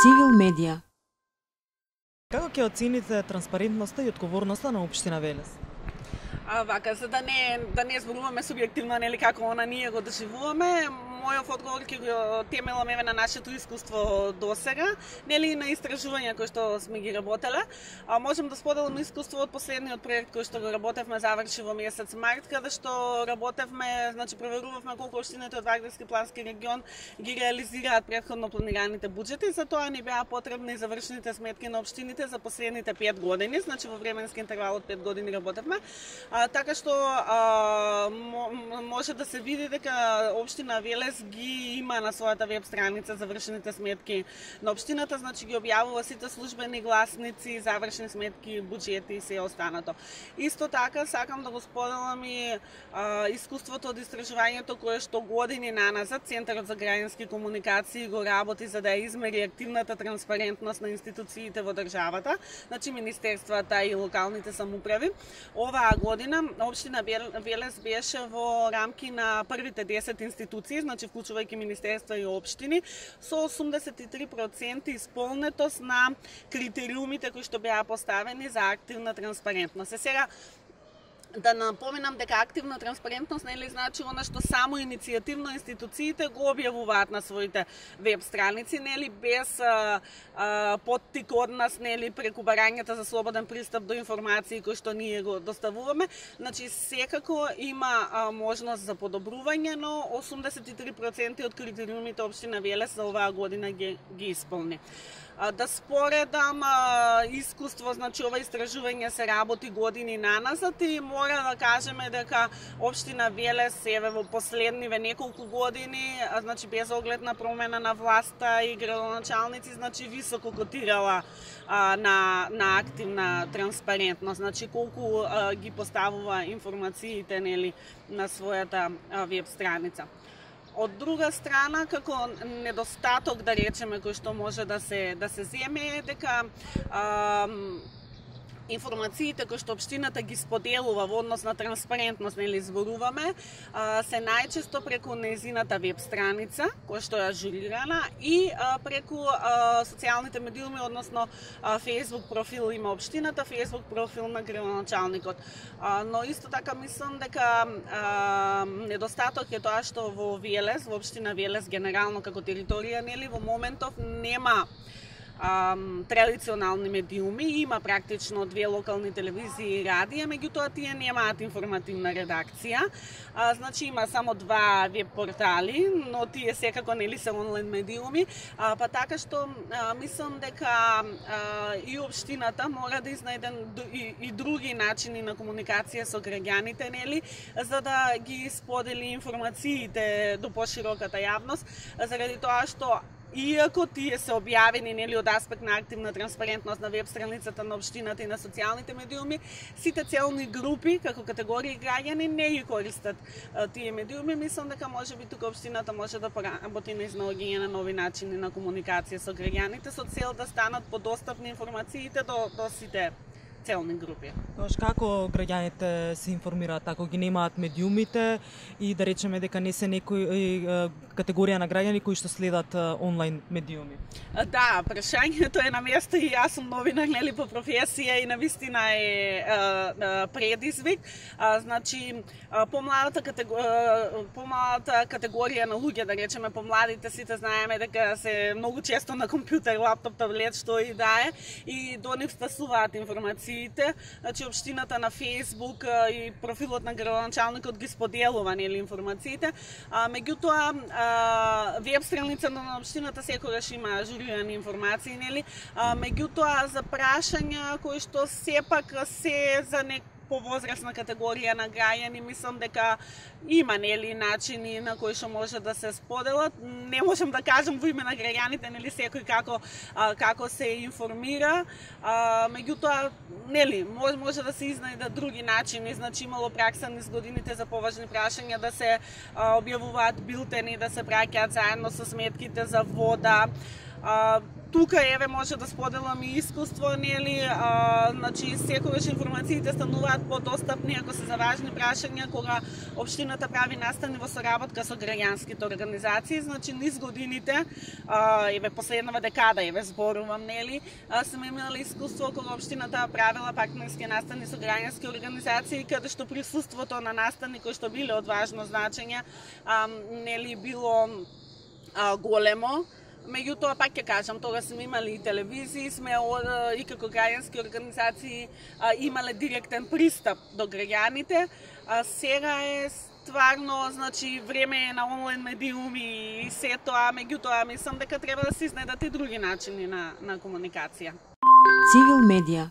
Civil Media. Како ќе оцените транспарентноста и одговорноста на општина Велес? Вака, за да не зборуваме субјективно, нели, како она ние го доживуваме, мојов одговор ќе го темелам еве на нашето искуство досега, нели, на истражувања кои што сме ги работеле. Можам да споделам искуство од последниот проект кој што го работевме, заврши во месец март, каде што работевме, значи проверувавме колку општините од Вардарски плански регион ги реализираат претходно планираните буџети, за тоа ни беа потребни завршените сметки на општините за последните 5 години, значи во временски интервал од 5 години работевме. Така што може да се види дека општина Велес ги има на својата веб страница завршените сметки на општината, значи ги објавува сите службени гласници, завршени сметки, буџети и се останато. Исто така сакам да го споделам и искуството од истражувањето кое што години наназад Центарот за граѓански комуникации го работи за да ја измери активната транспарентност на институциите во државата, значи министерствата и локалните самоуправи. Оваа година општина Велес беше во рамки на првите 10 институции, значи вклучувајќи министерства и општини, со 83% исполнетост на критериумите кои што беа поставени за активна транспарентност. Сега да напоменам дека активна транспарентност нели значи она што само иницијативно институциите го објавуваат на своите веб страници, нели без поттик од нас, нели преку барањата за слободен пристап до информации кои што ние го доставуваме. Значи секако има можност за подобрување, но 83% од критериумите општина Велес за оваа година ги исполни. Да споредам искуство, значи ова истражување се работи години наназад и мора да кажеме дека општина Велес еве во последниве неколку години, значи без оглед на промена на власта и градоначалници, значи високо котирала на активна транспарентност, значи колку ги поставува информациите нели на својата веб страница. Од друга страна, како недостаток, да речеме, кој што може да се земе е дека информациите кои што општината ги споделува во однос на транспарентност, нели зборуваме, се најчесто преку нејзината веб страница, која што е ажурирана, и преку социјалните медиуми, односно Facebook профил има општината, Facebook профил на градоначалникот. Но исто така мислам дека недостаток е тоа што во Велес, во општина Велес генерално како територија, нели во моментов нема традиционални медиуми, има практично 2 локални телевизии и радија, меѓутоа тие немаат информативна редакција. Значи има само 2 веб портали, но тие секако нели се онлайн медиуми, па така што мислам дека и општината мора да изнајде и други начини на комуникација со граѓаните, нели, за да ги сподели информациите до пошироката јавност, заради тоа што иако тие се објавени нели од аспект на активна транспарентност на веб страницата на општината и на социјалните медиуми, сите целни групи како категории граѓани не ги користат тие медиуми. Мислам дека можеби тука општината може да поработи на изнаоѓање на нови начини на комуникација со граѓаните со цел да станат подостапни информациите до сите целни групи. Како граѓаните се информираат ако ги немаат медиумите и да речеме дека не се некои категорија на граѓани кои што следат онлайн медиуми? Да, прашањето е на место и јас сум новинар нели по професија и навистина е предизвик. Значи помладата категорија на луѓе, да речеме помладите, сите знаеме дека се многу често на компјутер, лаптоп, таблет, што и да е, и до нив стасуваат информациите. Значи општината на Facebook и профилот на градоначалникот ги споделува нели информациите. Меѓутоа веб страница на општината секогаш има ажурирани информации, нели? Меѓутоа за прашања кои што сепак се за повозрасна категорија на граѓани, мислам дека има нели начини на кои што може да се споделат. Не можам да кажам во име на граѓаните нели секој како се информира. Меѓутоа нели може да се изнајдат други начини, значи имало пракса низ годините за поважни прашања да се објавуваат билтени, да се праќаат заедно со сметките за вода. Тука еве може да споделам и искуство, нели, значи секогаш информациите стануваат подостапни ако се за важни прашања кога општината прави настани во соработка со граѓанските организации, значи низ годините, еве последнава декада, еве зборувам, нели, сме имали искуство кога општината правила партнерски настани со граѓански организации, каде што присуството на настани кои што биле од важно значење, нели било големо. Меѓутоа, пак ќе кажам, тога сме имали и телевизии, сме и како граѓански организации имале директен пристап до граѓаните. Сега е стварно, значи, време е на онлайн медиуми и се тоа, меѓутоа, мислам дека треба да се изнедат и други начини на комуникација. Цивил медија